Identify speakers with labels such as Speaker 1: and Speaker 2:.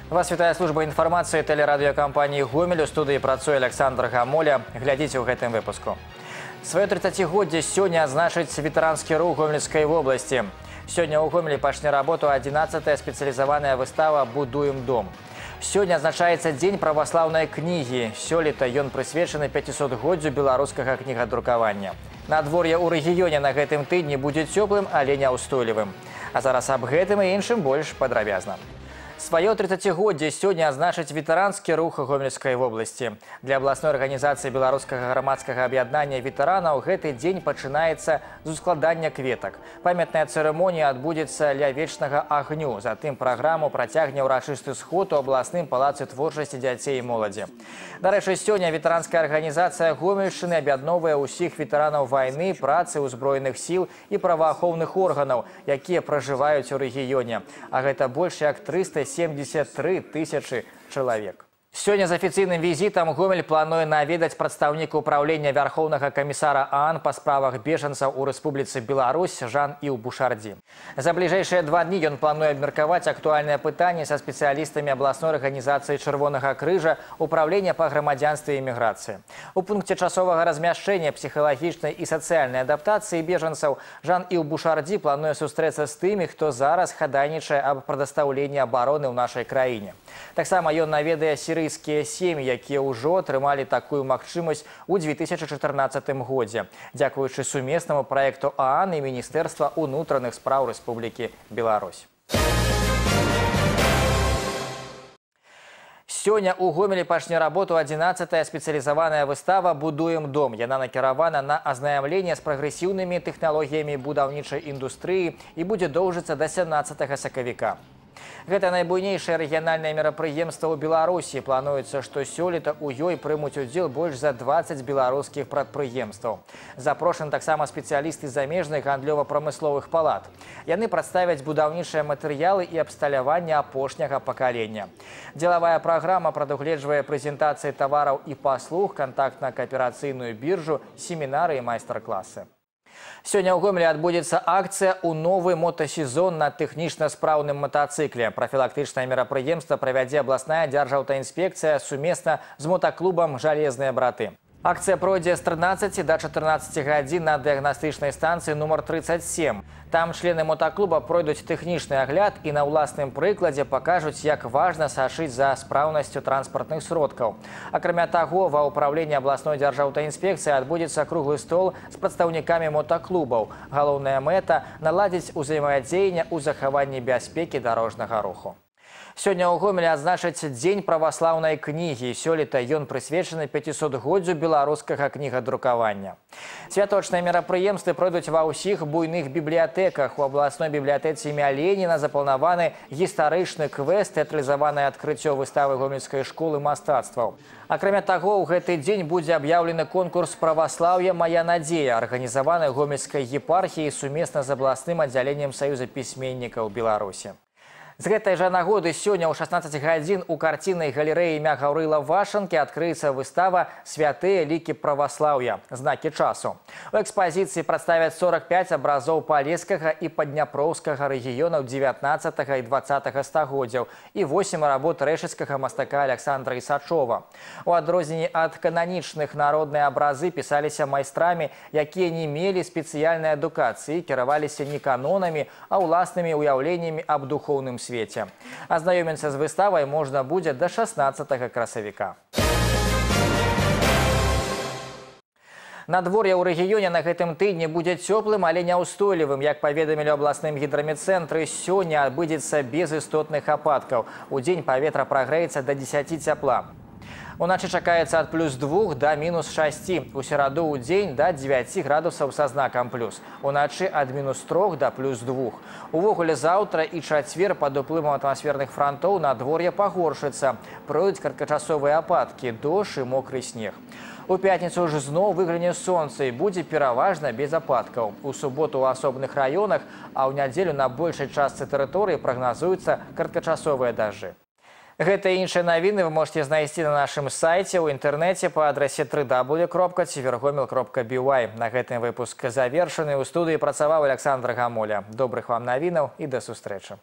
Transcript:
Speaker 1: Вас вітае служба інфармацыі тэлерадыёкампаніі «Гомель». У студыі працуе Александр Гамоля. Глядзіце ў гэтым выпуску. Сваё 30-годдзе сёння адзначыць ветэранскі рух Гомельскай вобласці. Сёння ў Гомелі пачне работу 11-я спецыялізаваная выстава «Будуем дом». Сёння адзначаецца дзень праваслаўнай кнігі. Сёлета ён прысвечаны 500-годдзю беларускага кнігадрукавання. Надвор'е ў рэгіёне на гэтым тыдні будзе цёплым, але няўстойлівым. А зараз аб гэтым і іншым больш падрабязна. Сваё 30-годдзе сёння адзначыць ветэранскі рух Гомельскай вобласці. Для абласной арганізацыі беларускага грамадскага аб'яднання ветэранаў гэты дзень пачынаецца з ускладання кветак. Памятная цырымонія адбудзецца ля вечнага агню. Затым праграму працягне ўрачысты сход у абласным палацы творчасці дзяцей і моладзі. Дарэчы, сёння ветэранская арганізацыя Гомельшчыны аб'ядноўвае ўсіх ветэранаў вайны, працы, узброеных сіл і праваахоўных органаў, якія пражываюць у рэгіёне. А гэта больш як 373 тысячы чалавек. Сёння з афіцыйным візітам Гомель плануе наведаць прадстаўніка ўпраўлення Вярхоўнага камісара ААН па справах бежанцаў у Рэспубліцы Беларусь Жан-Іў Бушардзі. За бліжэйшыя 2 дні ён плануе абмеркаваць актуальныя пытанні са спецыялістамі абласной арганізацыі Чырвонага крыжа ўпраўлення па грамадзянстве і міграцыі. У пункце часовага размяшчэння псіхалагічнай і сацыяльнай адаптацыі бежанцаў Жан-Іў Бушардзі плануе сустрэцца з тымі, хто зараз хадайнічае аб прадастаўленні абароны ў нашай краіне. Таксама ён наведае сірыйскія сем'і, якія ўжо атрымалі такую магчымасць у 2014 годзе, дзякуючы сумеснаму праекту ААН і Міністэрства ўнутраных спраў Рэспублікі Беларусь. Сёння ў Гомелі пачне работу 11-я спецыялізаваная выстава «Будуем дом». Яна накіравана на азнаямленне з прагрэсіўнымі тэхналогіямі будаўнічай індустрыі і будзе доўжыцца да 17 сакавіка. Гэта найбуйнейшае рэгіянальнае мерапрыемства ў Беларусі. Плануецца, што сёлета ў ёй прымуць удзел больш за 20 беларускіх прадпрыемстваў. Запрошаны таксама спецыялісты замежных гандлёва-прамысловых палат. Яны прадставяць будаўнічыя матэрыялы і абсталяванне апошняга пакалення. Дзелавая праграма прадугледжвае прэзентацыі тавараў і паслуг, кантактна-кааперацыйную біржу, семінары і майстар-класы. Сёння ў Гомелі адбудзецца акцыя ў новы мотасезон на тэхнічна спраўным матацыкле. Прафілактычнае мерапрыемства правядзе абласная дзяржаўтаінспекцыя сумесна з мотаклубам «Жалезныя браты». Акцыя пройдзе з 13 до 14 гадзін на дыягнастычнай станцыі нумар 37. Там члены мотаклуба пройдуць тэхнічны агляд і на ўласным прыкладзе пакажуць, як важна сачыць за спраўнасцю транспартных сродкаў. Акрамя таго, ва ўпраўленні абласной дзяржаўтаінспекцыі адбудзецца круглы стол з прадстаўнікамі мотаклубаў. Галоўная мэта – наладзіць узаемадзеянне ў захаванні бяспекі дарожнага руху. Сёння ў Гомелі адзначаць дзень праваслаўнай кнігі. Сёлета ён прысвечаны 500-годдзю беларускага кнігадрукавання. Святочныя мерапрыемствы пройдуць ва ўсіх буйных бібліятэках. У абласной бібліятэцы імя Леніна запланаваны гістарычны квест, тэатралізаванае адкрыццё выставы гомельскай школы мастацтваў. Акрамя таго, ў гэты дзень будзе аб'яўлены конкурс «Праваслаўе. Мая надзея», арганізаваны гомельскай епархіяй сумесна з абласным аддзяленнем Саюза пісьменнікаў Беларусі. З гэтай жа нагоды сёння ў 16 гадзін у карціннай галерэі імя Гаўрыла Вашанкі адкрыецца выстава «Святыя лікі праваслаўя. Знакі часу». У экспазіцыі прадставяць 45 абразоў палескага і падняпроўскага рэгіёнаў 19 і 20 стагоддзяў і 8 работ рэшыцкага мастака Александра Ісачова. У адрозненні ад кананічных народныя абразы пісаліся майстрамі, якія не мелі спецыяльнай адукацыі, кіраваліся не канонамі, а ўласнымі ўяўленнямі аб духоўным свеце. Азнаёміцца з выставай можна будзе да 16 красавіка. Надвор'е ў рэгіёне на гэтым тыдні будзе цёплым, але няўстойлівым. Як паведамілі ў абласным гідраметцэнтры, сёння адбудзецца без істотных ападкаў. Удзень паветра прагрэецца да 10 цяпла. Уначы чакаецца ад +2 да -6. У сераду ў дзень да 9 градусаў са знакам плюс. Уначы ад -3 да +2. Увогуле заўтра і чацвер пад уплывам атмасферных франтоў надвор'е пагоршыцца. Пройдуць кароткачасовыя ападкі, дождж і мокры снег. У пятніцу ж зноў выгляне сонца і будзе пераважна без ападкаў. У суботу ў асобных раёнах, а ў нядзелю на большай частцы тэрыторыі прагназуюцца кароткачасовыя дажджы. Гэта і іншыя навіны вы можете знайсці на нашым сайце ў інтэрнэце па адрасе www.tvrgomel.by. На гэтым выпуск завершаны. У студыі працаваў Александр Гамоля. Добрых вам навінаў і да сустрэчы.